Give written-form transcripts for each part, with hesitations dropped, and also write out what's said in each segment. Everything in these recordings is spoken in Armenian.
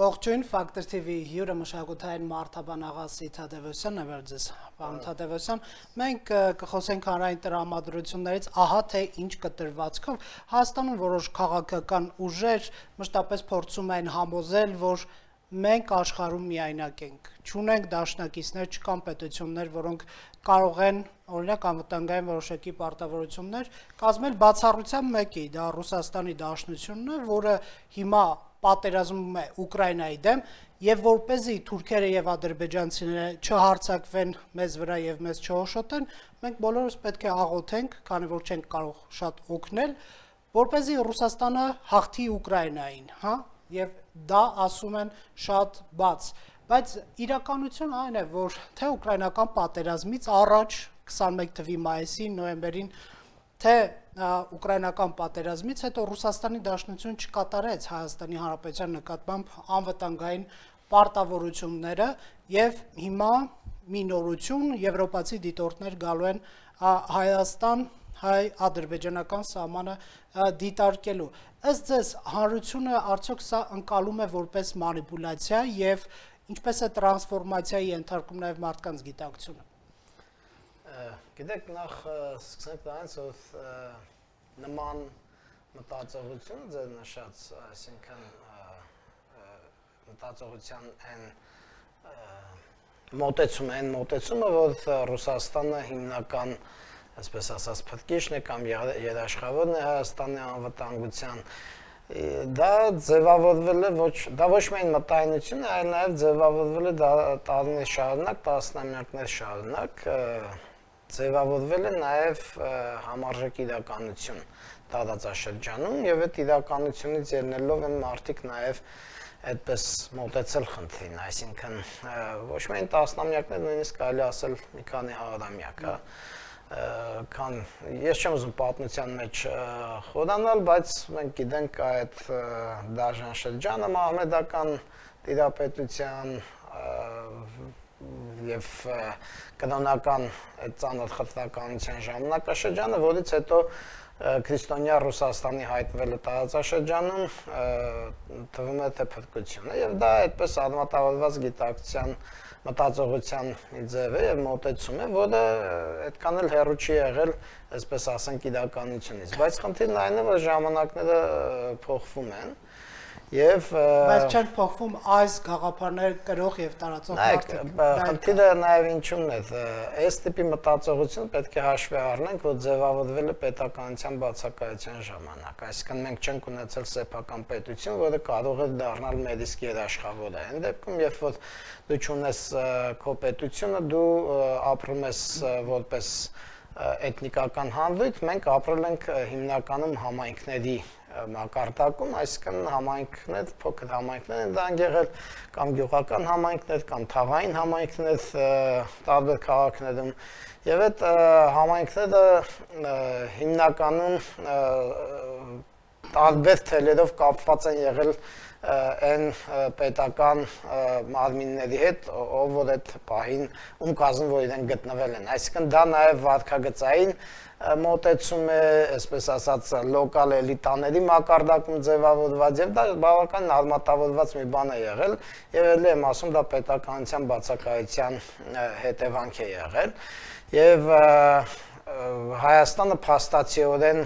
Ողջույն, Factor TV հյուրը մշակութային մարդաբան Աղասի Թադևոսյանն է վերջես, պարոն Թադևոսյան, մենք կխոսենք հանրային տրամադրություններից, ահա թե ինչ կտրվածքով Հայաստանում որոշ քաղաքական ուժեր մշտապես փորձում են համոզել, որ մենք աշխարհում միայնակ ենք, չունենք դաշնակիցներ, չկան պետություններ, որոնք կարող են օրինակ անվտանգային որոշակի պարտավորություններ կազմել բացառությամբ մեկի, դա Ռուսաստանի Դաշնությունն է, որը հիմա պատերազմում է Ուկրաինայի դեմ եւ որպեսզի թուրքերը եւ ադրբեջանցիները չհարցակվեն մեզ վրա եւ մեզ չհոշոտեն, մենք բոլորս պետք է աղոթենք, քանի որ չենք կարող շատ օգնել, որպեսզի Ռուսաստանը հաղթի Ուկրաինային, հա, եւ դա ասում են շատ բաց, բայց իրականությունն այն է, որ թե ուկրաինական պատերազմից առաջ 21 թվականի մայիսին, նոյեմբերին թե ուկրաինական պատերազմից հետո Ռուսաստանի Դաշնություն չկատարեց Հայաստանի Հանրապետության նկատմամբ անվտանգային պարտավորությունները եւ հիմա մի նորություն եվրոպացի դիտորդներ գալու են Հայաստան հայ-ադրբեջանական սահմանը դիտարկելու։ Ըստ ձեզ հանրությունը արդյոք սա ընկալում է որպես մանիպուլյացիա եւ ինչպես է տրանսֆորմացիայի ենթարկում նաեւ մարդկանց գիտակցությունը։ Գիտեք, նախ սկսենք դրանից, որ նման մտածողությունը ձեր նշած, այսինքն մտածողության այն մոտեցումը, որ Ռուսաստանը հիմնական, այսպես ասած, փրկիչն է կամ երաշխավորն է Հայաստանի անվտանգության, դա ձևավորվել է ոչ միայն մտայնություն, այլ նաև ձևավորվել է տարիներ շարունակ, տասնամյակներ շարունակ, ձևավորվել է նաև համարժեք իրականություն տարածաշրջանում եւ այդ իրականությունից ելնելով են մարդիկ նաև այդպես մոտեցել խնդրին, այսինքն ոչ միայն տասնամյակներ, նույնիսկ կարելի ասել մի քանի հարյուրամյակ, ես չեմ ուզում պատմության մեջ խորանալ, բայց մենք գիտենք այդ դաժան շրջանը մահմեդական տիրապետության եւ կրոնական այդ ծանոթ խտրականության ժամանակաշրջանը, որից հետո քրիստոնյա Ռուսաստանի հայտնվելը տարածաշրջանում թվում է թե փրկություն է եւ դա այդպես արմատավորված գիտակցության մտածողության ձև է եւ մոտեցում է, որը այդքան էլ հեռու չի եղել, այսպես ասենք, իրականությունից, բայց խնդիրն այն է, որ ժամանակները փոխվում են եւ բայց չեն փոխվում այս գաղափարները կրող եւ տարածող մարդիկ։ Խնդիրը նաեւ ինչու՞մն է, այս տիպի մտածողություն պետք է հաշվի առնենք, որ ձևավորվել է պետականության բացակայության ժամանակ, այսինքն մենք չենք ունեցել սեփական պետություն, որը կարող է դառնալ մեր իսկ երաշխավորը։ Այն դեպքում, երբ որ դու չունես քո պետությունը, դու ապրում ես որպես էթնիկական հանրույթ, մենք ապրել ենք հիմնականում համայնքների մակարդակում, այսինքն համայնքներ, փոքր համայնքներ են դա եղել, կամ գյուղական համայնքներ, կամ թաղային համայնքներ տարբեր քաղաքներում, եւ այդ համայնքները հիմնականում տարբեր թելերով կապված են եղել այն պետական մարմինների հետ, ով որ այդ պահին կազմում, որ իրենք գտնվել են, այսինքն դա նաեւ վարքագծային մոտեցում է, այսպես ասած, լոկալ էլիտաների մակարդակում ձևավորված եւ դա բավական արմատավորված մի բան է եղել եւ ելի եմ ասում դա պետականության բացակայության հետևանք է եղել եւ Հայաստանը փաստացիորեն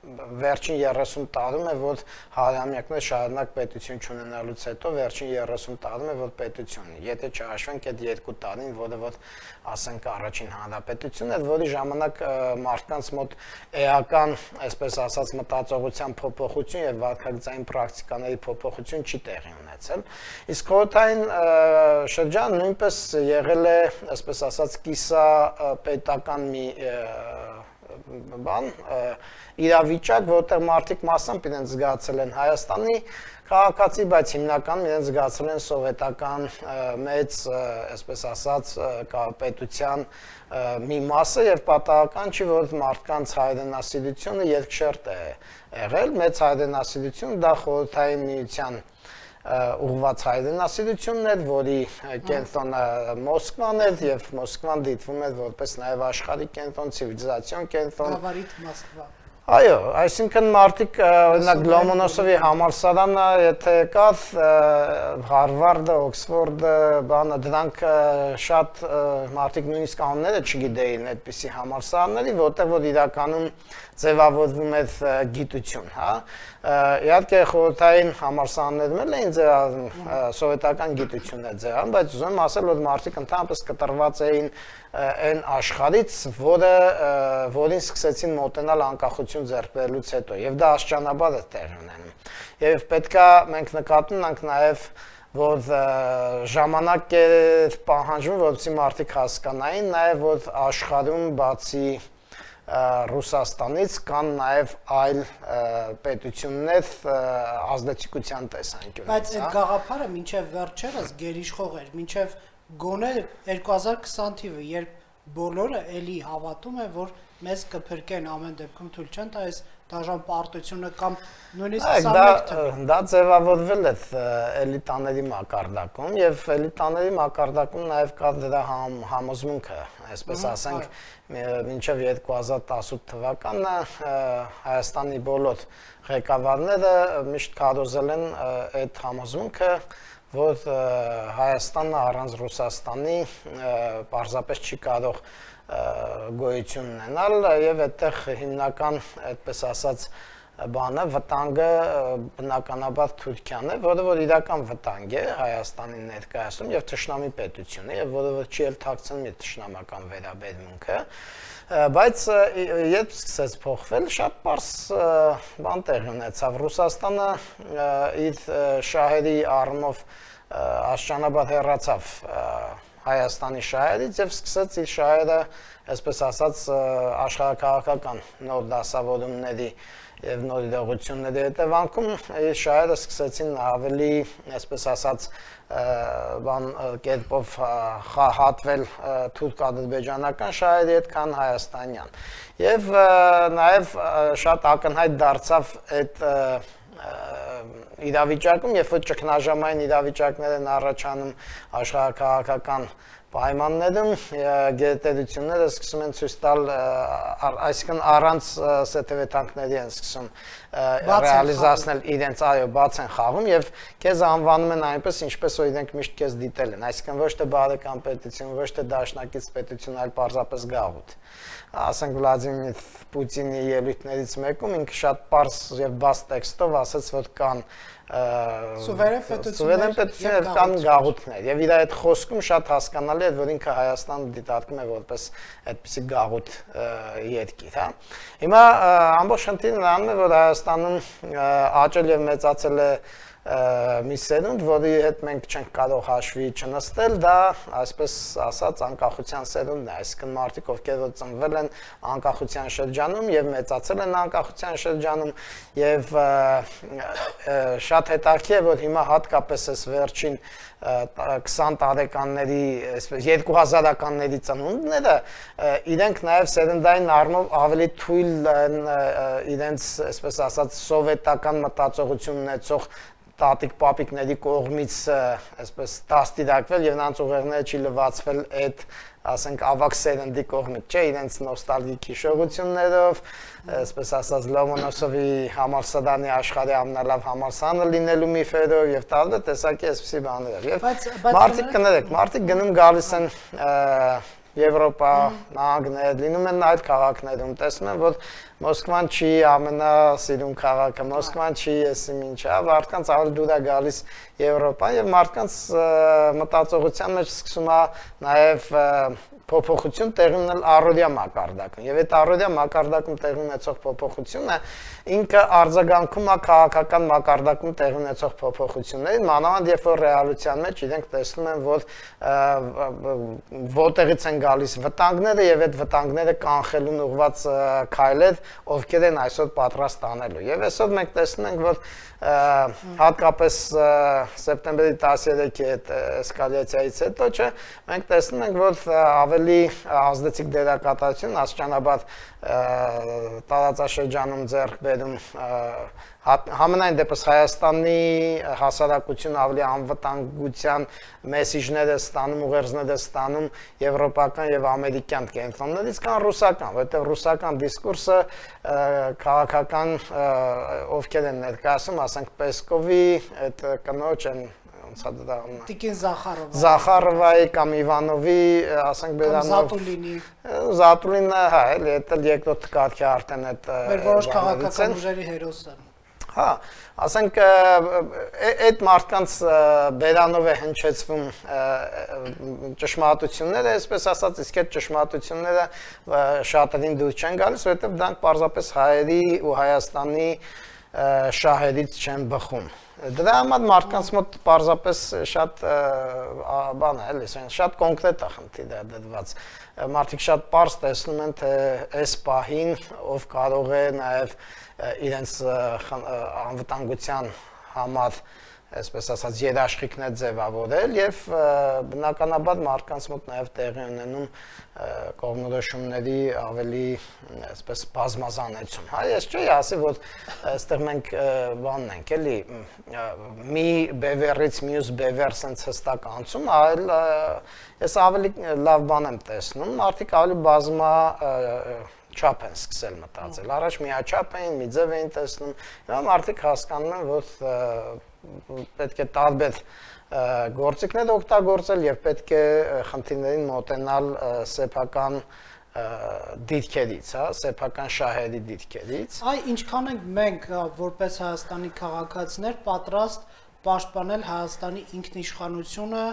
վերջին 30 տարում է, որ հարյուրամյակներ շարունակ պետություն չունենալուց հետո վերջին 30 տարում է, որ պետություն է։ Եթե չհաշվենք այդ 2 տարին, որը որ ասենք առաջին հանրապետությունն էր, որի ժամանակ մարդկանց մոտ էական, այսպես ասած, մտածողության փոփոխություն եւ վարքագծային պրակտիկաների փոփոխություն չի տեղի ունեցել։ Իսկ խորհրդային շրջանը նույնպես եղել է, այսպես ասած, կիսա պետական մի բան, իրավիճակ, որտեղ մարդիկ մասամբ իրենց զգացել են Հայաստանի քաղաքացի, բայց հիմնականում իրենց զգացել են սովետական մեծ, այսպես ասած, պետության մի մասը եւ պատահական չի, որ մարդկանց հայրենասիրությունը երկշերտ է եղել, մեծ հայրենասիրություն դա խորհրդային միության ուղղված հայրենասիրությունն էր, որի կենտրոնը Մոսկվան էր եւ Մոսկվան դիտվում էր որպես նաեւ աշխարհի կենտրոն, ցիվիլիզացիոն կենտրոն։ Գավառիթ Մոսկվա։ Այո, այսինքն մարդիկ օրինակ Լոմոնոսովի համալսարանը, եթե կար, Հարվարդը, Օքսֆորդը, բանը դրանք շատ մարդիկ նույնիսկ անունները չգիտեին այդպիսի համալսարանների, որտեղ որ իրականում ձևավորվում էր գիտություն, հա։ Իհարկե խորհրդային համալսարաններում էլ էին ձևավորվում սովետական գիտություններ ձևավորվում, բայց ուզում եմ ասել, որ մարդիկ ընդհանրապես կտրված էին այն աշխարհից, որին սկսեցին մոտենալ անկախություն ձեռք բերելուց հետո, եւ դա աստիճանաբար է տեղի ունենում։ Եվ պետքա մենք նկատի ունենք նաեւ, որ ժամանակ է պահանջվում, որպեսզի մարդիկ հասկանային նաեւ, որ աշխարհում բացի Ռուսաստանից կան նաև այլ պետություններ ազդեցիկության տեսանկյունից։ Բայց այդ գաղափարը մինչև վերջերս գերիշխող էր, մինչև գոնե 2020 թիվը, երբ բոլորը էլի հավատում են, որ մեզ կփրկեն ամեն դեպքում թույլ չեն տա այս դաժան պարտությունը կամ նույնիսկ 21 թվին։ Դա ձևավորվել է էլիտաների մակարդակում եւ էլիտաների մակարդակում նաեւ կա դրա համոզմունքը, այսպես ասենք, մինչև 2018 թվականը Հայաստանի բոլոր ղեկավարները միշտ քարոզել են այդ համոզմունքը, որ Հայաստանը առանց Ռուսաստանի պարզապես չի կարող գոյություն ունենալ եւ այդտեղ հիմնական, այդպես ասած, բանը վտանգը բնականաբար Թուրքիան է, որը որ իրական վտանգ է Հայաստանի ներկայացում եւ թշնամի պետություն է, եւ որը որ չի էլ թաքցնում իր թշնամական վերաբերմունքը, բայց երբ սկսեց փոխվել, շատ պարզ բան տեղի ունեցավ։ Ռուսաստանը իր շահերի առումով աստիճանաբար հեռացավ Հայաստանի շահերից եւ սկսեց իր շահերը, այսպես ասած, աշխարհակաղակական նոր դասավորումների եւ նոր իրողությունների հետևանքում իր շահերը սկսեցին ավելի, այսպես ասած, բան կերպով հատվել թուրք-ադրբեջանական շահերի հետ, քան հայաստանյան։ Եվ նաեւ շատ ակնհայտ դարձավ այդ իրավիճակում, երբ որ ճգնաժամային իրավիճակներ են առաջանում աշխարհակաղակական պայմաններում, գերտերությունները սկսում են ցույց տալ, այսինքն առանց սեթևեթանքների են սկսում ռեալիզացնել իրենց, այո, բաց են խաղում եւ քեզ անվանում են այնպես, ինչպես որ իրենք միշտ քեզ դիտել են, այսինքն ոչ թե բարեկամ պետություն, ոչ թե դաշնակից պետություն, այլ պարզապես գաղութ։ Ասենք Վլադիմիր Պուտինի ելույթներից մեկում ինքը շատ պարզ եւ բաց տեքստով ասաց, որ կան սուվերեն պետություններ կան գաղութներ եւ իր այդ խոսքում շատ հասկանալի է, որ ինքը Հայաստանը դիտարկում է որպես այդպիսի գաղութ երկիր, հա։ Հիմա ամբողջ խնդիրը նրանում է, որ Հայաստանում աճել եւ մեծացել է մի սերունդ, որի հետ մենք չենք կարող հաշվի չնստել, դա այսպես ասած անկախության սերունդն է, այսինքն մարդիկ, ովքեր որ ծնվել են անկախության շրջանում եւ մեծացել են անկախության շրջանում եւ շատ հետաքրքիր է, որ հիմա հատկապես այս վերջին 20 տարեկանների, այսպես 2000-ականների ծնունդները իրենք նաև սերնդային առումով ավելի թույլ են իրենց, այսպես ասած, սովետական մտածողություն ունեցող տատիկ-պապիկների կողմից այսպես դաստիարակվել եւ նրանց ուղեղները չի լվացվել այդ, ասենք, ավակ սերնդի կողմից, չէ, իրենց նոստալգիկ հիշողություններով, այսպես ասած, Լոմոնոսովի համալսարանի աշխարհի ամենալավ համալսարանը լինելու միֆերով եւ տարբեր տեսակի այսպիսի բաներով։ Եվ մարդիկ կներեք, մարդիկ գնում գալիս են Եվրոպա, նահանգներ, լինում են այլ քաղաքներում, տեսնում են, որ Մոսկվան չի ամենասիրուն քաղաքը, Մոսկվան չի եսի ինչա, մարդկանց ավելի դուր է գալիս Եվրոպան եւ մարդկանց մտածողության մեջ սկսում է նաեւ փոփոխություն տեղի ունենալ առօրյա մակարդակում եւ այդ առօրյա մակարդակում տեղի ունեցող փոփոխությունը ինքը արձագանքում է քաղաքական մակարդակում տեղի ունեցող փոփոխություններին, մանավանդ երբ որ ռեալության մեջ իրենք տեսնում են, որ որտեղից են գալիս վտանգները եւ այդ վտանգները կանխելուն ուղղված քայլեր, ովքեր են այսօր պատրաստ անելու։ Եվ այսօր մենք տեսնում ենք, որ հատկապես սեպտեմբերի 13-ի այդ էսկալացիայից հետո, չէ, մենք տեսնում ենք, որ ավելի ազդեցիկ դերակատարություն աստիճանաբար տարածաշրջանում ձեռք բերում Համենայն դեպս Հայաստանի հասարակությունը ավելի անվտանգության մեսիջներ է ստանում, ուղերձներ է ստանում եվրոպական եւ ամերիկյան կենտրոններից, քան ռուսական, որովհետեւ ռուսական դիսկուրսը քաղաքական ովքեր են ներկայացում, ասենք Պեսկովի այդ կնոջ են Տիկին Զախարովայի կամ Իվանովի, ասենք Բերանով Զատուլինը, հա, էլի դա երկրորդ կարգի արդեն այդ մեր որոշ քաղաքական ուժերի հերոսը։ Հա, ասենք այդ մարդկանց Բերանով է հնչեցվում ճշմարտությունները, այսպես ասած, իսկ այդ ճշմարտությունները շատերին դուր չեն գալիս, որովհետև դրանք պարզապես հայերի ու Հայաստանի շահերից չեն բխում։ Դրա համար մարդկանց մոտ պարզապես շատ բան է, էլի, շատ կոնկրետ է խնդիրը դրված։ Մարդիկ շատ պարզ տեսնում են, թե այս պահին ով կարող է նաև իրենց անվտանգության համար, այսպես ասած, երաշխիքներ ձևավորել եւ բնականաբար մարդկանց մոտ նաև տեղի ունենում կողմնորոշումների ավելի, այսպես, բազմազանություն։ Հա, ես չի ասի, որ այստեղ մենք բանն ենք, էլի, մի բևեռից մյուս բևեռ sense հստակ անցում, այլ ես ավելի լավ բան եմ տեսնում, մարդիկ ավելի բազմա չափ են սկսել մտածել։ Առաջ միաչափ էին, մի ձև էին տեսնում, հիմա մարդիկ հասկանում են, որ պետք է տարբեր գործիքներ օգտագործել եւ պետք է խնդիրներին մոտենալ սեփական դիրքերից, հա, սեփական շահերի դիրքերից։ Այ ինչքան ենք մենք որպես Հայաստանի քաղաքացիներ պատրաստ պաշտպանել Հայաստանի ինքնիշխանությունը,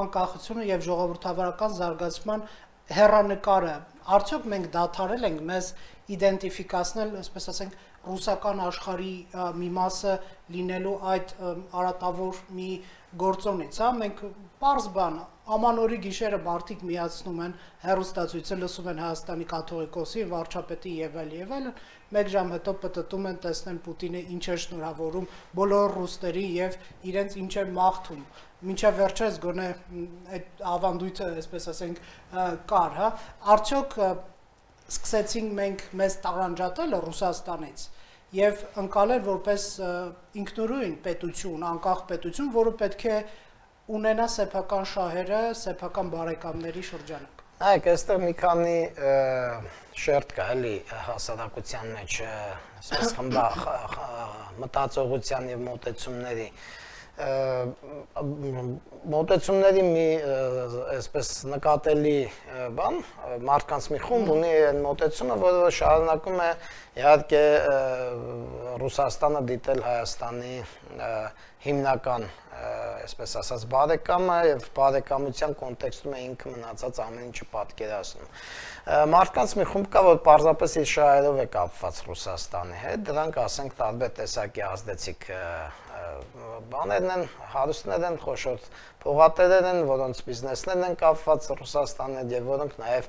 անկախությունը եւ ժողովրդավարական զարգացման հեռանկարը։ Արդյոք մենք դադարել ենք մեզ իդենտիֆիկացնել, այսպես ասենք, ռուսական աշխարհի մի մասը լինելու այդ արատավոր մի գործոնից, հա, մենք պարզ բան, ամանորի գիշերը մարդիկ միացնում են հեռուստացույցը, լսում են Հայաստանի կաթողիկոսի, վարչապետի եւ այլն, մեկ ժամ հետո պտտում են, տեսնեն Պուտինը ինչ է շնորհավորում բոլոր ռուսների եւ իրենց ինչ է մաղթում։ Մինչև վերջերս գոնե այդ ավանդույթը, այսպես ասենք, կար, հա, արդյոք սկսեցինք մենք մեզ տարանջատել Ռուսաստանից եւ ընկալել որպես ինքնուրույն պետություն, անկախ պետություն, որը պետք է ունենա սեփական շահերը, սեփական բարեկամների շրջանակ։ Այ այստեղ մի քանի շերտ կա, էլի, հասարակության մեջ, այսպես մտածողության եւ մոտեցումների մոտեցումների մի այսպես նկատելի բան, մարդկանց մի խումբ ունի այն մոտեցումը, որը շարունակում է իհարկե Ռուսաստանը դիտել Հայաստանի հիմնական, այսպես ասած, բարեկամը եւ բարեկամության կոնտեքստում է ինքը մնացած ամեն ինչը պատկերացնում։ Մարդկանց մի խումբ կա, որ պարզապես իր շահերով է կապված Ռուսաստանի հետ, դրանք ասենք տարբեր տեսակի ազդեցիկ բաներն են, հարուստներ են, խոշոր փողատերեր են, որոնց բիզնեսներն են կապված Ռուսաստանի հետ եւ որոնք նաեւ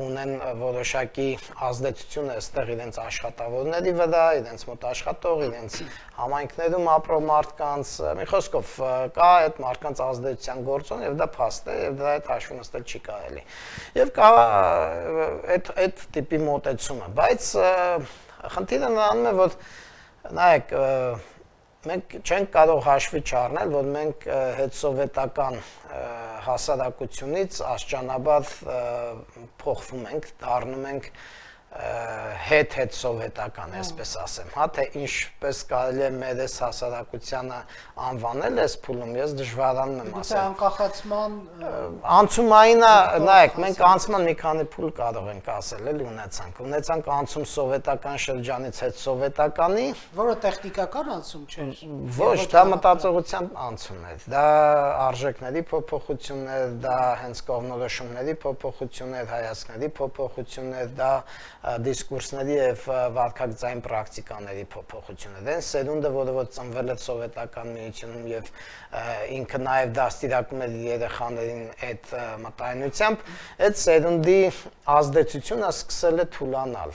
ունեն որոշակի ազդեցություն այստեղ իրենց աշխատավորների վրա, իրենց մոտ աշխատող, իրենց համայնքներում ապրող մարդկանց, մի խոսքով կա այդ մարդկանց ազդեցության գործոն եւ դա փաստ է եւ դրա հետ հաշվի նստել չի կարելի։ Եվ կա այդ տիպի մոտեցումը, բայց խնդիրը նրանում է, որ նայեք, մենք չենք կարող հաշվի չառնել, որ մենք հետսովետական հասարակությունից աստիճանաբար փոխվում ենք, դառնում ենք հետ-սովետական, այսպես ասեմ, հա, թե ինչպես կարելի է մեր այս հասարակությանը անվանել այս փուլում, ես դժվարանում եմ ասել։ Անկախացման անցումային, նայեք, մենք անցման մի քանի փուլ կարող ենք ասել, էլի ունեցանք անցում սովետական շրջանից հետ-սովետականի, որը տեխնիկական անցում չէր։ Ոչ, դա մտածողության անցում էր, դա արժեքների փոփոխություններ, դա հենց կողմնորոշումների փոփոխություններ, հայացքների փոփոխություններ, դա դիսկուրսների եւ վարքագծային պրակտիկաների փոփոխություններ։ Դեն սերունդը, որը որ ծնվել է սովետական միությունում եւ ինքը նաեւ դաստիարակում էր երեխաներին այդ մտայնությամբ, այդ սերունդի ազդեցությունը սկսել է թուլանալ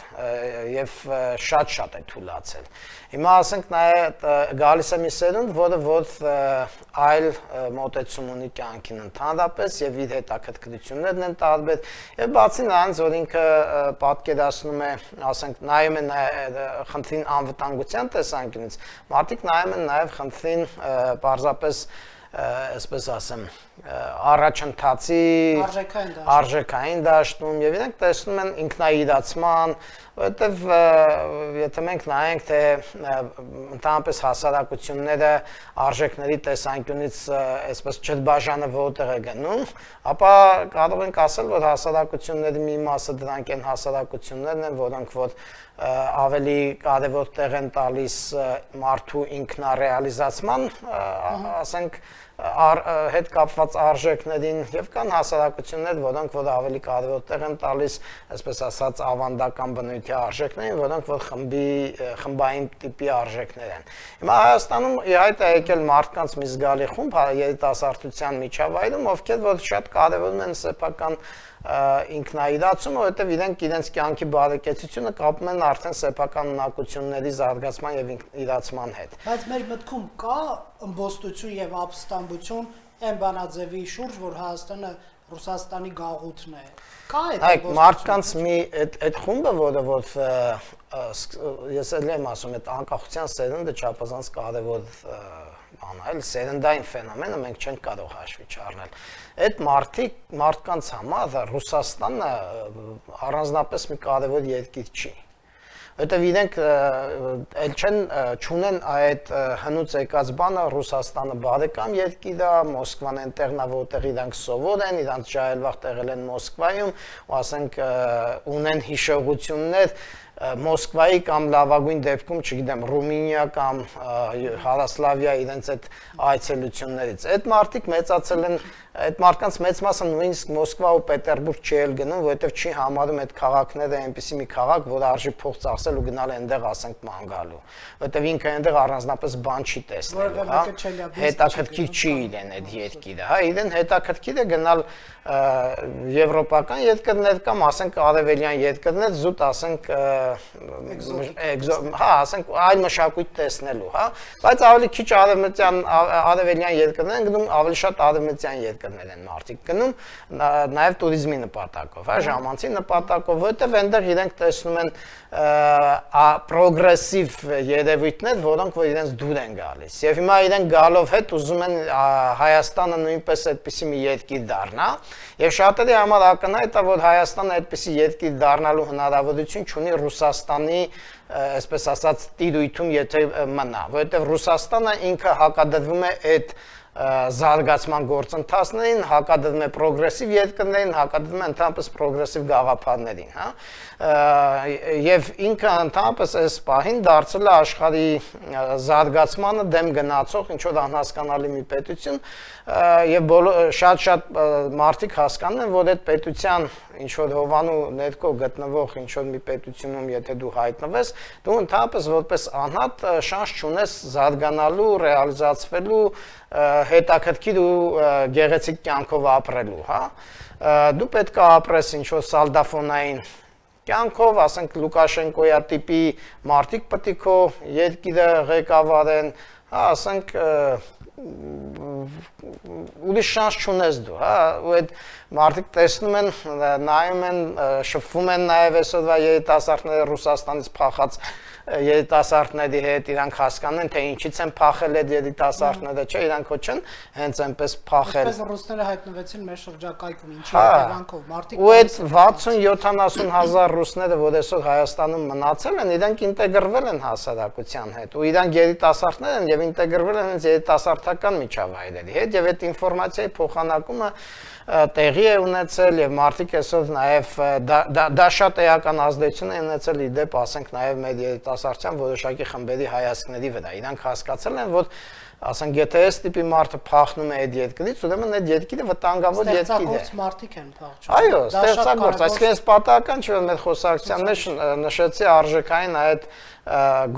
եւ շատ է թուլացել։ Հիմա ասենք նաեւ գալիս է մի սերունդ, որը այլ մոտեցում ունի կյանքին ընդհանրապես եւ իր հետաքրքրություններն են տարբեր եւ բացի նրանից, որ ինքը պատկերացնում ներկայացնում է, ասենք, նայում են խնդրին անվտանգության տեսանկյունից, մարդիկ նայում են նաև խնդրին պարզապես այսպես ասեմ, առաջընթացի արժեքային դաշտում եւ իրենք տեսնում են ինքնաիրացման, որովհետեւ եթե մենք նայենք թե ընդհանրապես հասարակությունները արժեքների տեսանկյունից այսպես չդբաժանը որտեղ է գնում, ապա կարող ենք ասել, որ հասարակությունների մի մասը դրանք են հասարակություններն են, որոնք որ ավելի կարևոր տեղ են տալիս մարդու ինքնարեալիզացման, ասենք հետ կապված արժեքներին եւ կան հասարակություններ, որոնք որ ավելի կարևոր տեղ են տալիս, այսպես ասած, ավանդական բնույթի արժեքներին, որոնք որ խմբային տիպի արժեքներ են։ Հիմա Հայաստանում իհայտ է եկել մարդկանց մի զգալի խումբ երիտասարդության միջավայրում, ովքեր որ շատ կարևորում են սեփական ինքնաիրացումը, որովհետև իրենք իրենց կյանքի բարեկեցությունը կապում են արդեն սեփական ունակությունների զարգացման եւ իրացման հետ։ Բայց մեր մտքում կա ըմբոստություն եւ ապստամբություն այն բանաձևի շուրջ, որ Հայաստանը Ռուսաստանի գաղութն է։ Կա այդ մարդկանց մի այդ խումբը, որը որ ես էլ եմ ասում, այդ անկախության սերունդը չափազանց կարևոր բան է, սերնդային ֆենոմենը մենք չենք կարող հաշվի չառնել։ Այդ մարդկանց համար Ռուսաստանը առանձնապես մի կարևոր երկիր չի։ Որտեւ իրենք չունեն այդ հնուց եկած բանը Ռուսաստանը բարեկամ երկիր է, Մոսկվան այնտեղն է, որտեղ իրանք սովոր են, իրանք ջահելվաղ տեղել են Մոսկվայում, ու ասենք ունեն հիշողություններ Մոսկվայի կամ լավագույն դեպքում, չգիտեմ, Ռումինիա կամ Հարասլավիա իրենց այդ այցելություններից։ Այդ մարդիկ մեծացել են, այդ մարդկանց մեծ մասը նույնիսկ Մոսկվա ու Պետերբուրգ չի էլ գնում, որովհետև չի համարում այդ քաղաքները այնպիսի մի քաղաք, որ արժի փող ծախսել ու գնալ այնտեղ, ասենք, ման գալու։ Որովհետև ինքը այնտեղ առանձնապես բան չի տեսնել, հա։ Հետաքրքիր չի իրեն այդ երկիրը, հա, իրեն հետաքրքիր է գնալ եվրոպական երկրներ կամ ասենք արևելյան երկրներ, զուտ ասենք հա, ասենք այլ մշակույթ տեսնելու, հա, բայց ավելի քիչ արևելյան երկրներ են գնում, ավելի շատ արևմտյան երկրներ են մարդիկ գնում, նաև туриզմի նպատակով, հա, ժամանցի նպատակով, որովհետև այնտեղ իրենք տեսնում են պրոգրեսիվ երևույթներ, որոնք որ իրենց դուր են գալիս։ Եվ հիմա իրենք գալով հետ ուզում են Հայաստանը նույնպես այդպիսի մի երկիր դառնա, եւ շատերի համար ակնհայտ է, որ Հայաստանը այդպիսի երկիր դառնալու հնարավորություն չունի Ռուսաստանի, այսպես ասած, տիրույթում, եթե մնա, որովհետեւ Ռուսաստանը ինքը հակադրվում է այդ զարգացման գործընթացներին, հակադրվում է պրոգրեսիվ երկրներին, հակադրվում է ընդհանրապես պրոգրեսիվ գաղափարներին, հա։ Եվ ինքը ընդհանրապես այս պահին դարձել է աշխարհի զարգացմանը դեմ գնացող ինչ որ անհասկանալի մի պետություն, եւ շատ մարդիկ հասկանում են, որ այդ պետության ինչ որ հովանու ներքո գտնվող ինչ որ մի պետությունում, եթե դու հայտնվես, դու ընդհանրապես որպես անհատ շանս չունես զարգանալու, ռեալիզացվելու, հետաքրքիր ու գեղեցիկ կյանքով ապրելու, հա։ Դու պետք է ապրես ինչ որ սալդաֆոնային կյանքով, ասենք Լուկաշենկոյա տիպի մարդիկ պետք է քո երկիրը ղեկավարեն, հա, ասենք ուրիշ շանս չունես դու, հա, ու այդ մարդիկ տեսնում են, նայում են, շփվում են նաև այսօրվա երիտասարդները Ռուսաստանից փախած երիտասարդների հետ, իրանք հասկանում են, թե ինչից են փախել այդ երիտասարդները, չէ, իրանք ոչ են հենց այնպես փախել։ Այսպես ռուսները հայտնվեցին մեր շրջակայքում, ինչի հետևանքով, մարդիկ ու այդ 60-70 հազար ռուսները, որ այսօր Հայաստանում մնացել են, իրանք ինտեգրվել են հասարակության հետ, ու իրանք երիտասարդներ են եւ ինտեգրվել են հենց երիտասարդական միջավայրերի հետ, եւ այդ ինֆորմացիայի փոխանակումը տեղի է ունեցել եւ մարդիկ այսօր նաեւ դա շատ էական ազդեցություն է ունեցել իդեպ, ասենք նաեւ մեր երիտասարդության որոշակի խմբերի հայացքների վրա։ Իրանք հասկացել են, որ ասենք եթե այս տիպի մարդը փախնում է այդ երկրից, ուրեմն այդ երկիրը վտանգավոր երկիր է։ Ստեղծագործ մարդիկ են փախչում։ Այո, ստեղծագործ, այսինքն այս պատահական չէ, որ մեր խոսակցության մեջ նշեցի արժեքային այդ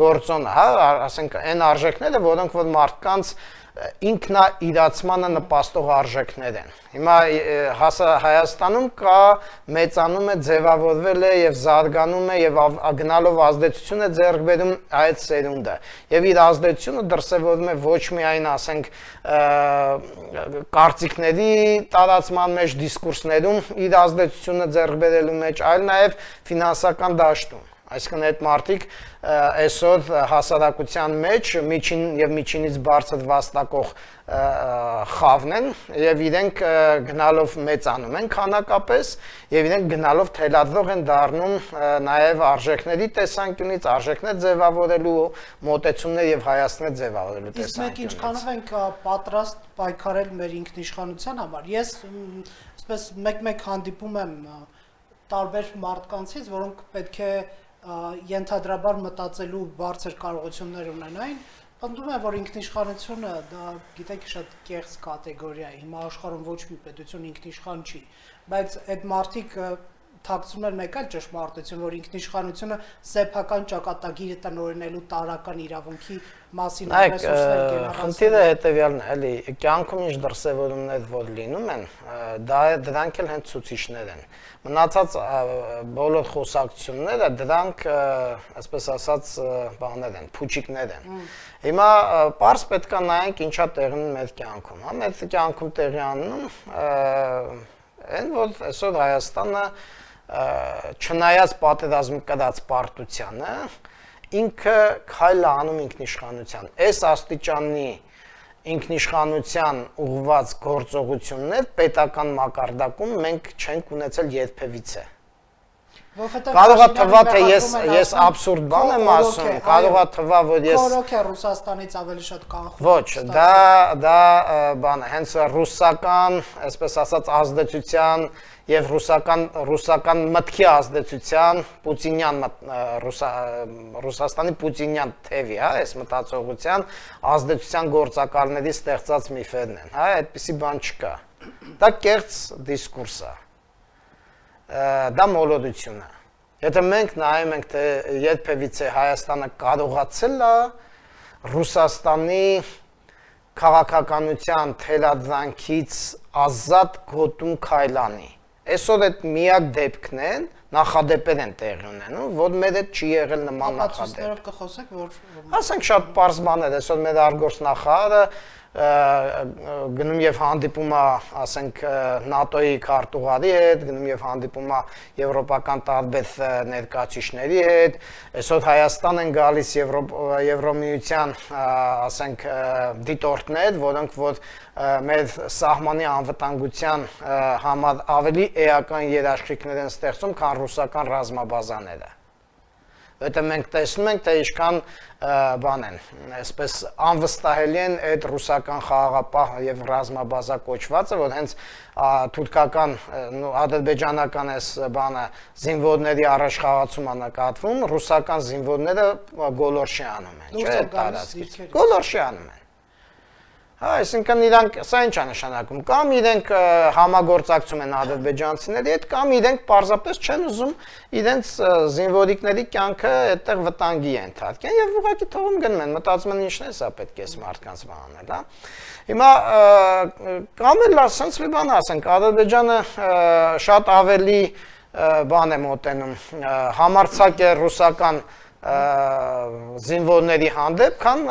գործոնը, հա, ասենք այն արժեքները, որոնք որ մարդկանց ինքնաիրացմանը նպաստող արժեքներ են։ Հիմա Հայաստանում կա մեծանում է, ձևավորվել է եւ զարգանում է եւ գնալով ազդեցություն է ձեռք բերում այդ սերունդը։ Եվ իր ազդեցությունը դրսևորվում է ոչ միայն, ասենք, կարծիքների տարածման մեջ, դիսկուրսներում իր ազդեցությունը ձեռք բերելու մեջ, այլ նաեւ ֆինանսական դաշտում։ Այսինքն այդ մարդիկ այսօր հասարակության մեջ միջին եւ միջինից բարձր վաստակող խավն են եւ իրենք գնալով մեծանում են քանակապես եւ իրենք գնալով թելադրող են դառնում նաեւ արժեքների տեսանկյունից, արժեքներ ձևավորելու, մոտեցումներ եւ հայացքներ ձևավորելու տեսանկյունից։ Իսկ մենք ինչքանով ենք պատրաստ պայքարել մեր ինքնիշխանության համար։ Ես այսպես մեկ-մեկ հանդիպում եմ տարբեր մարդկանցից, որոնք պետք է ենթադրաբար մտածելու բարձր կարողություններ ունենային, պնդում եմ, որ ինքնիշխանությունը դա գիտեք շատ կեղծ կատեգորիա է, հիմա աշխարհում ոչ մի պետություն ինքնիշխան չի, բայց այդ մարդիկ թաքցում են մեկ այլ ճշմարտություն, որ ինքնիշխանությունը սեփական ճակատագիրը տնօրինելու տարրական իրավունքի մասին ռեսուրսներ գերազանց։ Խնդիրը հետևյալն է, էլի կյանքում ինչ դրսևորումներ որ լինում են, դրանք էլ հենց ցուցիչներ են։ Մնացած բոլոր խոսակցությունները դրանք, այսպես ասած, բաներ են, փուչիկներ են։ Հիմա պարզ պետք է նայենք ինչա տեղի մեր կյանքում, հա, մեր կյանքում տեղի անում են, որ այսօր Հայաստանը չնայած պատերազմի կրած պարտությանը, ինքը քայլ է անում ինքնիշխանության։ Այս աստիճանի ինքնիշխանության ուղղված գործողություններ պետական մակարդակում մենք չենք ունեցել երբևիցե։ Կարող է թվա, թե ես абսուրդ բան եմ ասում, կարող է թվա, որ ես Քորոք է Ռուսաստանից ավելի շատ կանխում։ Ոչ, դա բան է, հենց ռուսական, այսպես ասած, ազդեցության եւ ռուսական մտքի ազդեցության Պուտինյան Ռուսաստանի Պուտինյան թևի, հա, այս մտածողության ազդեցության գործակալների ստեղծած միֆերն են, հա, այդպիսի բան չկա։ Դա կեղծ դիսկուրս է։ Դա մոլորություն է։ Եթե մենք նայում ենք, թե երբևիցե Հայաստանը կարողացել է Ռուսաստանի քաղաքականության թելադրանքից ազատ գոտում քայլանի։ Այսօր այդ միակ դեպքն են, նախադեպեր են տեղի ունենում, որ մեր հետ չի եղել նման նախադեպ։ Ապացույցներով կխոսեք, որ ասենք շատ պարզ բան է, այսօր մեր արտգործնախարարը գնում եւ հանդիպում է, ասենք, ՆԱՏՕ-ի քարտուղարի հետ, գնում եւ հանդիպում է եվրոպական տարբեր ներկայացուցիչների հետ, այսօր Հայաստան են գալիս Եվրոմիության, ասենք, դիտորդներ, որոնք որ մեր սահմանի անվտանգության համար ավելի էական երաշխիքներ են ստեղծում, քան ռուսական ռազմաբազաները։ Որտեղ մենք տեսնում ենք, թե ինչքան բան են, այսպես անվստահելի են այդ ռուսական խաղաղապահ եւ ռազմաբազա կոչվածը, որ հենց թուրքական, ադրբեջանական այս բանը զինվորների առաջխաղացում նկատվում, ռուսական զինվորները գոլորշի անում են, չէ՞, տարածքից։ Գոլորշի անում են։ Հա, այսինքն իրանք սա ինչ է նշանակում, կամ իրենք համագործակցում են ադրբեջանցիների հետ, կամ իրենք պարզապես չեն ուզում իրենց զինվորիկների կյանքը այդտեղ վտանգի ենթարկեն եւ ուղղակի թողում գնում են, մտածում են ինչն է սա պետք է այս մարդկանց բանել, հա։ Հիմա կամ էլ ասենց մի բան ասենք, Ադրբեջանը շատ ավելի բան է մոտենում, համարձակ է ռուսական զինվորների հանդեպ, քան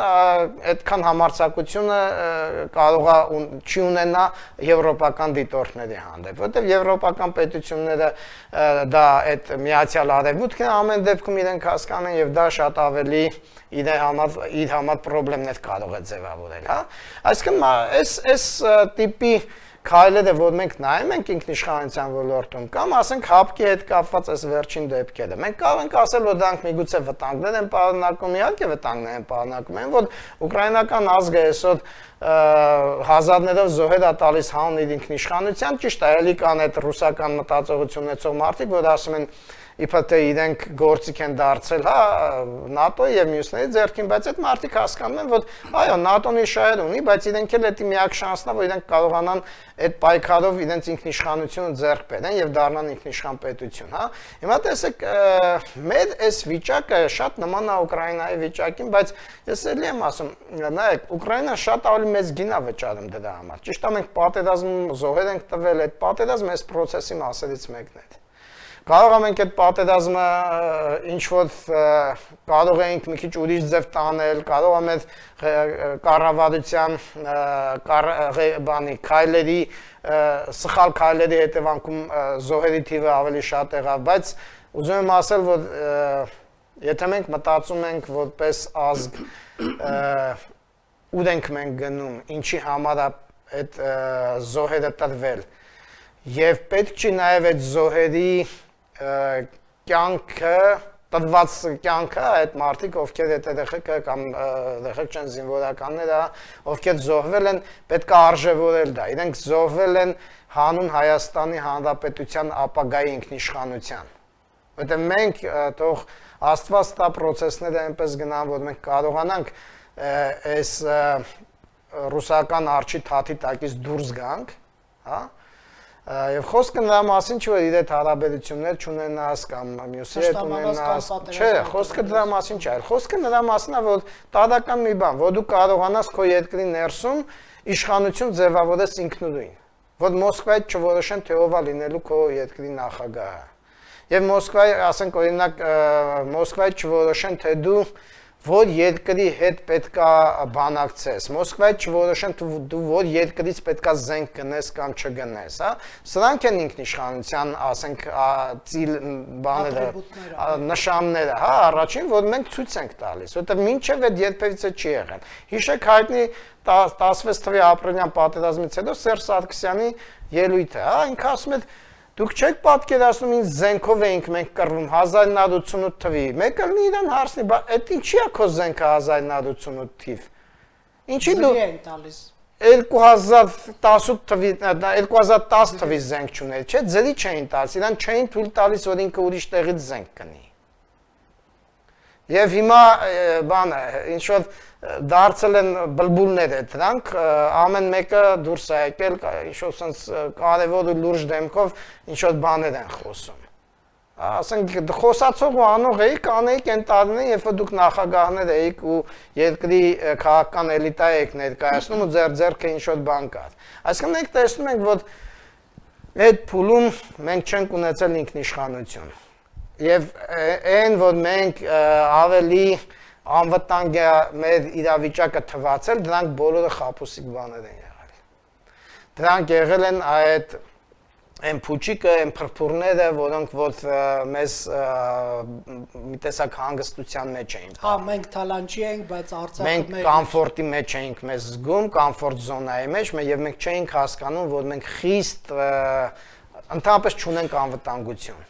այդքան համարձակությունը կարող է չի ունենա եվրոպական դիտորդների հանդեպ, որտեղ եվրոպական պետությունները դա այդ միացյալ արևմուտքն է ամեն դեպքում իրենք հասկանում եւ դա շատ ավելի իր համար խնդիրներ կարող է ձևավորել, հա։ Այսինքն այս տիպի քայլերը, որ մենք նայում ենք ինքնիշխանության ոլորտում, կամ ասենք հապկի հետ կապված այս վերջին դեպքերը, մենք կարող ենք ասել, որ դրանք միգուցե վտանգներ են պարունակում, իհարկե վտանգներ են պարունակում, որ ուկրաինական ազգը այսօր հազարներով զոհեր է տալիս հանուն իր ինքնիշխանության, ճիշտ է, էլի կան այդ ռուսական մտածողություն ունեցող մարդիկ, որ ասում են իբր թե իրենք գործիք են դարձել, հա, ՆԱՏՕ-ի եւ մյուսների ձեռքին, բայց այդ մարդիկ հասկանում են, որ այո, ՆԱՏՕ-ն իր շահեր ունի, բայց իրենք էլ դա միակ շանսն է, որ իրենք կարողանան այդ պայքարով իրենց ինքնիշխանությունը ձեռք բերեն եւ դառնան ինքնիշխան պետություն, հա։ Հիմա տեսեք, մեր այս վիճակը շատ նման է Ուկրաինայի վիճակին, բայց ես էլի եմ ասում, նայեք, Ուկրաինան շատ ավելի մեծ գին է վճարում դրա համար։ Ճիշտ է, մենք պատերազմ զոհեր ենք տվել, այդ պատերազմը այս process-ի մասերից մեկն է։ Կարող ենք այդ պատերազմը ինչ որ կարող ենք մի քիչ ուրիշ ձև տանել, կարող ենք կառավարության քայլերի սխալ քայլերի հետևանքում զոհերի թիվը ավելի շատ եղավ, բայց ուզում եմ ասել, որ եթե մենք մտածում ենք որպես ազգ ուր ենք մենք գնում, ինչի համար այդ զոհերը տրվել եւ պետք չի նաեւ այդ զոհերի կյանքը տրված կյանքը այդ մարդիկ ովքեր այդ ԴԽԿ կամ ԴԽԿ չեն զինվորականները ովքեր զոհվել են պետք է արժևորել դա իրենք զոհվել են հանուն Հայաստանի Հանրապետության ապագայի ինքնիշխանության որտեղ մենք թող Աստված տա process-ները այնպես գնան որ մենք կարողանանք այս ռուսական արջի թաթի տակից դուրս գանք հա Եվ խոսքը նրա մասին չի որ իր հետ հարաբերություններ չունենաս կամ մյուսի հետ ունենաս, չէ, խոսքը դրա մասին չի, այլ խոսքը նրա մասին է որ տարական մի բան, որ դու կարողանաս քո երկրի ներսում իշխանություն ձևավորես ինքնուրույն, որ Մոսկվայից չորոշեն թե ով է լինելու քո երկրի նախագահը։ Եվ Մոսկվայի, ասենք օրինակ Մոսկվայից չորոշեն թե դու որ երկրի հետ պետքա բանակցես, Մոսկվայից չորոշեն դու որ երկրից պետքա զենք գնես կամ չգնես, հա, սրանք են ինքնիշխանության, ասենք, ծիլ բաները, նշանները, հա, առաջին, որ մենք ցույց ենք տալիս, որտեղ մինչև այդ երբևիցե չի եղել։ Հիշեք հայտնի 16 թվականի ապրիլյան պատերազմից հետո Սերժ Սարգսյանի ելույթը, հա, ինքը ասում է Դուք չեք պատկերացնում ինչ զենքով էինք մենք կռվում 1988 թվի։ Մեկը լինի իրան հարցնի, բա այդ ինչի է քո զենքը 1988 թիվ։ Ինչի դու 2018 թվի 2010 թվի զենք չուներ, չէ՞, ձերի չէին տալիս, իրան չէին թույլ տալիս, որ ինքը ուրիշ տեղից զենք կնի։ Եվ հիմա բանը, ինչ որ դարձել են բլբուլներ է դրանք, ամեն մեկը դուրս է եկել, ինչ որ սենց կարևոր ու լուրջ դեմքով ինչ որ բաներ են խոսում։ Ասենք խոսացող ու անող էիք, անեիք են տարիներին, երբ որ դուք նախագահներ էիք ու երկրի քաղաքական էլիտա էիք ներկայացնում ու ձեր ձեռքը ինչ որ բան կար։ Այսինքն մենք տեսնում ենք, որ այդ փուլում մենք չենք ունեցել ինքնիշխանություն։ Եվ այն, որ մենք ավելի անվտանգ է մեր իրավիճակը թվացել, դրանք բոլորը խաբուսիկ բաներ են եղել։ Դրանք եղել են այդ այն փուչիկը, այն փրփուրները, որոնք որ մեզ մի տեսակ հանգստության մեջ էին։ Հա, մենք թալանչի ենք, բայց Արցախը մենք կոմֆորտի մեջ էինք մեզ զգում, կոմֆորտ զոնայի մեջ, եւ մենք չէինք հասկանում, որ մենք խիստ ընդհանրապես չունենք անվտանգություն։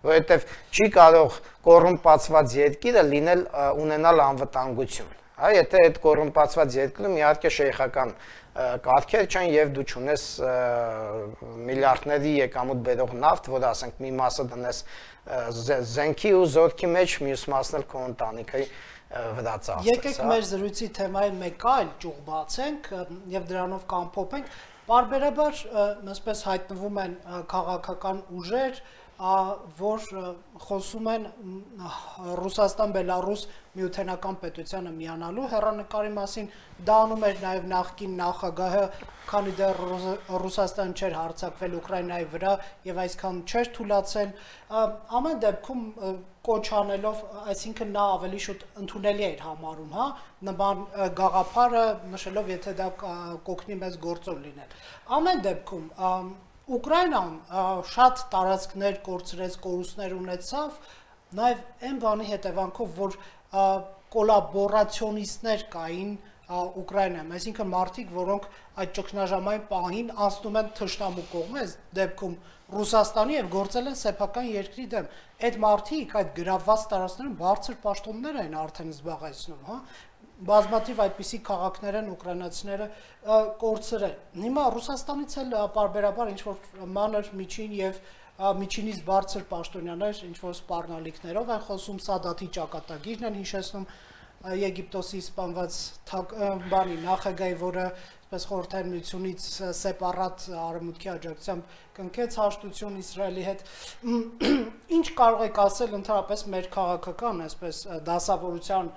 Որովհետև չի կարող կոռումպացված երկիրը լինել ունենալ անվտանգություն։ Հա, եթե այդ կոռումպացված երկրում իհարկե շեյխական կարգեր չեն եւ դու չունես միլիարդների եկամուտ բերող նավթ, որ ասենք մի մասը դնես զենքի ու զորքի մեջ, մյուս մասն էլ քո ընտանիքի վրա ծախսես։ Եկեք մեր զրույցի թեմային մեկ այլ ճյուղ բացենք եւ դրանով կամփոփենք։ Բարբերաբար այսպես հայտնվում են քաղաքական ուժեր, որ խոսում են Ռուսաստան-Բելարուս միութենական պետությանը միանալու հեռանկարի մասին, դա անում էր նաև նախկին նախագահը, քանի դեռ Ռուսաստանը չէր հարձակվել Ուկրաինայի վրա եւ այսքան չէր թույլատրել, ամեն դեպքում կոչ անելով, այսինքն նա ավելի շուտ ընդունելի էր համարում, հա, նման գաղափարը նշելով, եթե դա կօգնի մեզ գործով լինել։ Ամեն դեպքում Ուկրաինան շատ տարածքներ կորցրեց, կորուստներ ունեցավ, նաև այն բանի հետևանքով, որ կոլաբորացիոնիստներ կային Ուկրաինայում, այսինքն մարդիկ, որոնք այդ ճգնաժամային պահին անցնում են թշնամու կողմը, այս դեպքում Ռուսաստանի եւ գործել են սեփական երկրի դեմ։ Այդ մարդիկ այդ գրավված տարածքներում բարձր պաշտոններ են արդեն զբաղեցնում, հա։ Բազմաթիվ այդպիսի քաղաքներ են ուկրաինացիները կորցրել։ Հիմա Ռուսաստանից էլ պարբերաբար ինչ-որ մանր միջին եւ միջինից բարձր պաշտոնյաներ ինչ-որ սպառնալիքներով են խոսում, Սադաթի ճակատագիրն են հիշեցնում Եգիպտոսի սպանված բանի նախագահի, որը այսպես խորհրդային միությունից սեպարատ արևմուտքի աջակցությամբ կնքեց հաշտություն Իսրայելի հետ։ Ինչ կարող եք ասել ընդհանրապես մեր քաղաքական այսպես դասավորության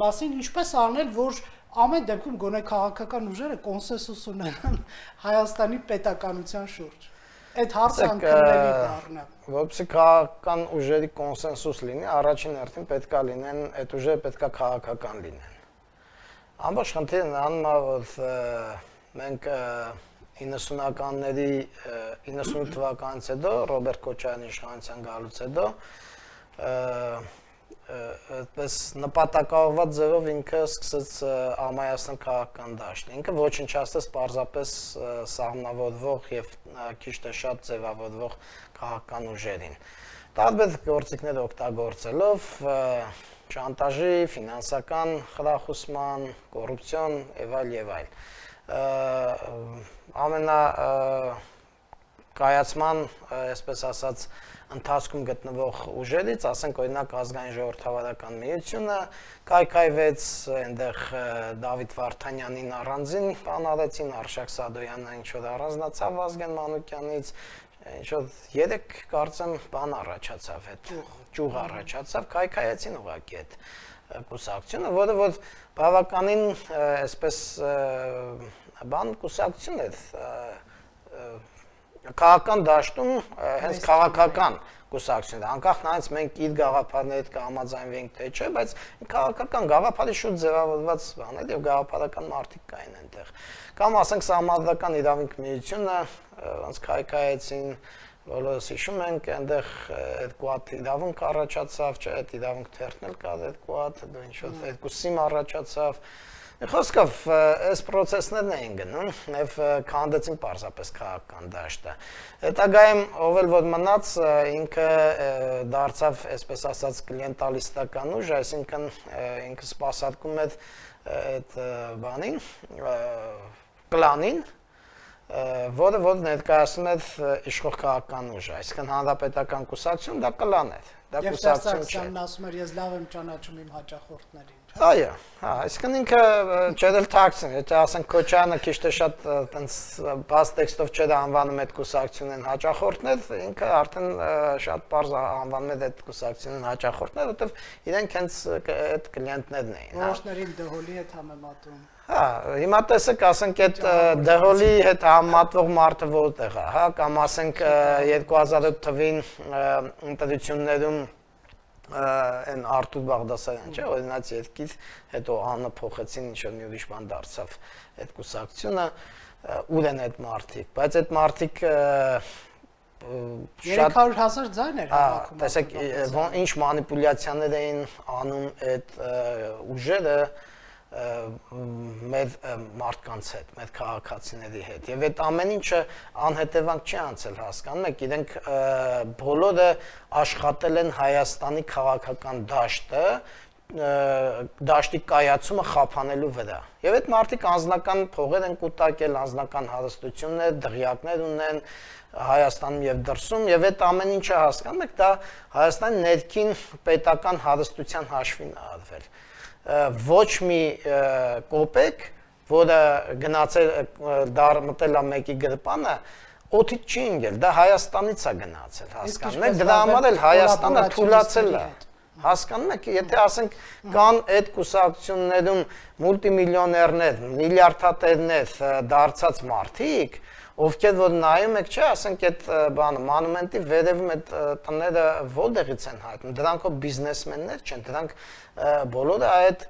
մասին, ինչպես անել, որ ամեն դեպքում գոնե քաղաքական ուժերը կոնսենսուս ունենան Հայաստանի պետականության շուրջ։ Այդ հարցը անկրկնելի դառնա։ Որպեսզի քաղաքական ուժերի կոնսենսուս լինի, առաջին հերթին պետքա լինեն, այդ ուժերը պետքա քաղաքական լինեն։ Ամբողջ խնդիրն անում է, որ մենք 90-ականների 98 թվականից հետո Ռոբերտ Քոչարյանի իշխանության գալուց հետո այդպես նպատակաուղղված ձևով ինքը սկսեց ամայացնել քաղաքական դաշտը։ Ինքը ոչնչացրեց պարզապես սահմանավորվող եւ քիչ թե շատ ձևավորվող քաղաքական ուժերին։ Տարբեր գործիքներ օգտագործելով շանտաժի, ֆինանսական խրախուսման, կոռուպցիոն եւ այլ։ Ամենա կայացման, այսպես ասած, ընթացքում գտնվող ուժերից, ասենք օրինակ ազգային ժողովրդավարական միությունը կայքայվեց, այնտեղ Դավիթ Վարդանյանին առանձին բան արեցին, Արշակ Սադոյանը ինչ-որ առանձնացավ Վազգեն Մանուկյանից, ինչ-որ 3 կարծեմ բան առաջացավ, այդ ճյուղ առաջացավ, կայքայեցին ուղղակի այդ կուսակցությունը, որը որ բավականին այսպես բան կուսակցություն է քաղաքական դաշտում հենց քաղաքական կուսակցություն է, անկախ նրանից մենք իր գաղափարների հետ կհամաձայնվենք թե չէ, բայց քաղաքական գաղափարի շուտ ձևավորված բաներ եւ գաղափարական մարդիկ կային այնտեղ։ Կամ ասենք Սահմանադրական իրավունք միությունը, ոնց քայքայեցին, բոլորս հիշում ենք, այնտեղ այդ կուատ իրավունք առաջացավ, չէ, այդ իրավունք թերթն էլ կար, այդ կուատ, ինչ-որ երկուսիմ առաջացավ։ Խոսքով, այս պրոցեսներն էին գնում եւ քանդեցին պարզապես քաղաքական դաշտը։ Հետագայում ով էլ որ մնաց, ինքը դարձավ, այսպես ասած, կլիենտալիստական ուժ, այսինքն ինքը սպասարկում էր այդ բանին, կլանին, որը որ ներկայացնում էր իշխող քաղաքական ուժը, այսինքն հանրապետական կուսակցություն դա կլան էր, դա կուսակցություն չէ։ Եվ Սարգսյանն ասում էր, ես լավ եմ ճանաչում իմ հաճախորդներին։ Այո, այսինքն ինքը չերել թաքցին, եթե ասենք Քոչարյանը քիչ թե շատ տենց բաց տեքստով չէր անվանում այդ կուսակցությունն հաճախորդներ, ինքը արդեն շատ պարզ անվանում էր այդ կուսակցությունն հաճախորդներ, որովհետև իրենք հենց այդ կլիենտներն էին։ Որոշներին դհոլի հետ համեմատում։ Հա, հիմա տեսեք, ասենք այդ դհոլի հետ համեմատվող մարդը որտեղ է, հա, կամ ասենք 2008 թվին ընտրություններում այն Արտուր Բաղդասարյան, չէ, օրինաց երկիր, հետո անունը փոխեցին, ինչ-որ մի ուրիշ բան դարձավ այդ կուսակցությունը, ուր են այդ մարդիկ, բայց այդ մարդիկ 300,000 ձայն էր հավաքում։ Տեսեք, ինչ մանիպուլյացիաներ էին անում այդ ուժերը մեր մարդկանց հետ, մեր քաղաքացիների հետ եւ այդ ամեն ինչը անհետևանք չի անցել, հասկանում եք, իրենք բոլորը աշխատել են Հայաստանի քաղաքական դաշտի կայացումը խափանելու վրա եւ այդ մարդիկ անձնական փողեր են կուտակել, անձնական հարստություններ, դղյակներ ունեն Հայաստանում եւ դրսում եւ այդ ամեն ինչը հասկանում եք, դա Հայաստանի ներքին պետական հարստության հաշվին է արվել ոչ մի կոպեկ, որը գնացել մտել է մեկի գրպանը, օդից չի ընկել, դա Հայաստանից է գնացել, հասկանում եք, դրա համար էլ Հայաստանը թուլացել է, հասկանում եք, եթե ասենք կան այդ կուսակցություններում մուլտիմիլիոներներ, միլիարդատերներ դարձած մարդիկ, ովքեր որ նայում եք, չէ, ասենք այդ բանը, մանումենտի վերևում այդ տները որտեղից են հայտնում, դրանք բիզնեսմեններ չեն, դրանք բոլորը այդ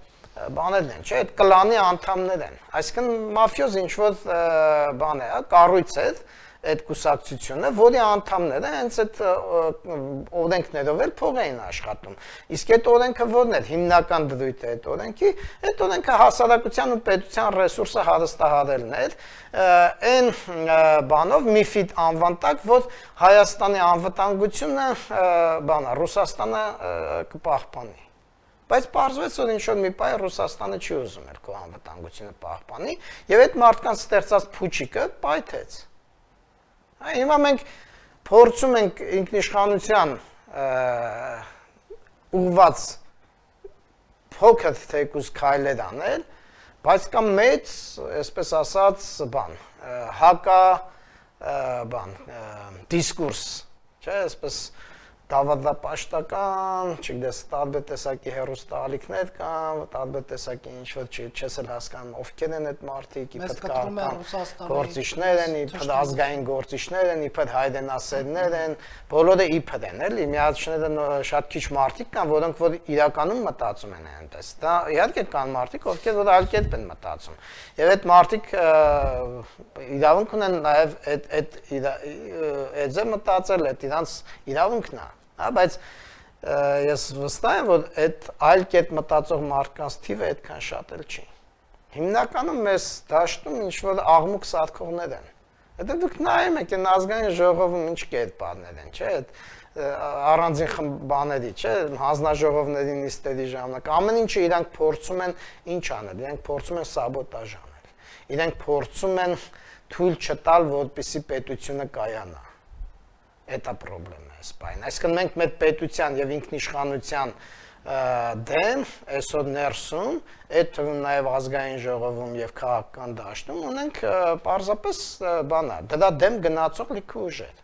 բաներն են, չէ, այդ կլանի անդամներ են, այսինքն մաֆիոզ ինչ-որ բան է, կառույց է այդ կուսակցությունը, որի անդամները հենց այդ օրենքներով էլ փող էին աշխատում։ Իսկ այդ օրենքը որն էր, հիմնական դրույթը այդ օրենքի, այդ օրենքը հասարակության ու պետության ռեսուրսը հարստահարելն էր, այն բանով MIFID անվան տակ, որ Հայաստանի անվտանգությունը բանա, Ռուսաստանը կպահպանի։ Բայց պարզվեց, որ ինչ-որ մի պահ Ռուսաստանը չի ուզում էր քո անվտանգությունը պահպանի, եւ այդ մարդկանց ստեղծած փուչիկը պայթեց։ Հիմա մենք փորձում ենք ինքնիշխանության ուղղված փոքր թեկուզ քայլեր անել, բայց կա մեծ, այսպես ասած, բան, հակա բան, դիսկուրս, չէ, այսպես դավադապաշտական, չգիտես, տարբեր տեսակի հերոստալիքներ կան, տարբեր տեսակի ինչ որ չես էլ հասկանում ովքեր են այդ մարդիկ, իբր գործիչներ են, իբր ազգային գործիչներ են, իբր հայրենասերներ են, բոլորը իբր են, էլի, միացնելը շատ քիչ մարդիկ կան, որոնք որ իրականում մտածում են այնպես։ Դա իհարկե կան մարդիկ, ովքեր որ այլ կերպ են մտածում։ Եվ այդ մարդիկ իրավունք ունեն նաև այդ ձեր մտածել, այդ իրանց իրավունքն է։ Բայց ես վստահ եմ, որ այդ այլ կերպ մտածող մարդկանց թիվը այդքան շատ էլ չի։ Հիմնականում մեզ դաշտում ինչ-որ աղմուկ սարքողներ են։ Հետո դուք նայում եք այն ազգային ժողովում ինչ կերպարներ են, չէ՞, առանձին բաների, չէ՞, հանձնաժողովների նիստերի ժամանակ ամեն ինչը իրանք փորձում են ինչ անել, իրանք փորձում են սաբոտաժ անել։ Իրանք փորձում են թույլ չտալ, որպեսզի պետությունը կայանա։ Դա խնդիրն է սպայն։ Այսինքն մենք մեր պետության եւ ինքնիշխանության դեմ այսօր ներսում, այդ թվում նաեւ ազգային ժողովում եւ քաղաքական դաշտում ունենք պարզապես բանա, դրա դեմ գնացող լիքը ուժեր,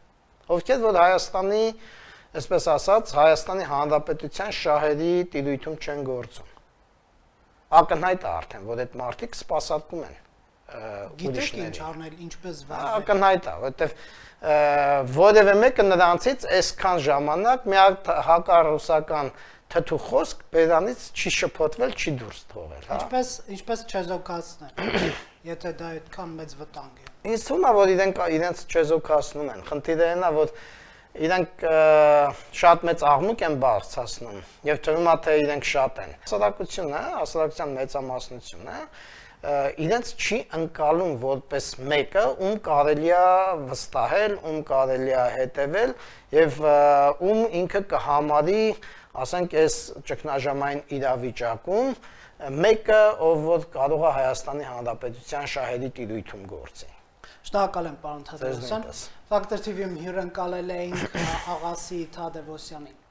ովքեր որ Հայաստանի, այսպես ասած, Հայաստանի Հանրապետության շահերի տիրույթում չեն գործում։ Ակնհայտ է արդեն, որ այդ մարդիկ սպասարկում են Գիտեք ինչ արնել, ինչպես վարվել։ Ակնհայտ է, որովհետեւ որևէ մեկը նրանցից այսքան ժամանակ մի հատ հակառուսական թթու խոսք բերանից չի շփոթվել, չի դուրս թողել, հա։ Ինչպես չեզոքացնել, եթե դա այդքան մեծ վտանգ է։ Ինձ թվում է, որ իրենց չեզոքացնում են։ Խնդիրը այն է, որ իրենք շատ մեծ աղմուկ են բարձրացնում եւ թվում է թե իրենք շատ են։ Հասարակությունն է, հասարակության մեծամասնությունն է, իրենց չի ընկալում որպես մեկը, ում կարելի է վստահել, ում կարելի է հետևել եւ ում ինքը կհամարի, ասենք, այս ճգնաժամային իրավիճակում մեկը, ով որ կարող է Հայաստանի Հանրապետության շահերի տիրույթում գործի։ Շնորհակալ եմ, պարոն Թադևոսյան։ Factor TV-ում հյուրընկալել էինք Աղասի Թադևոսյանին։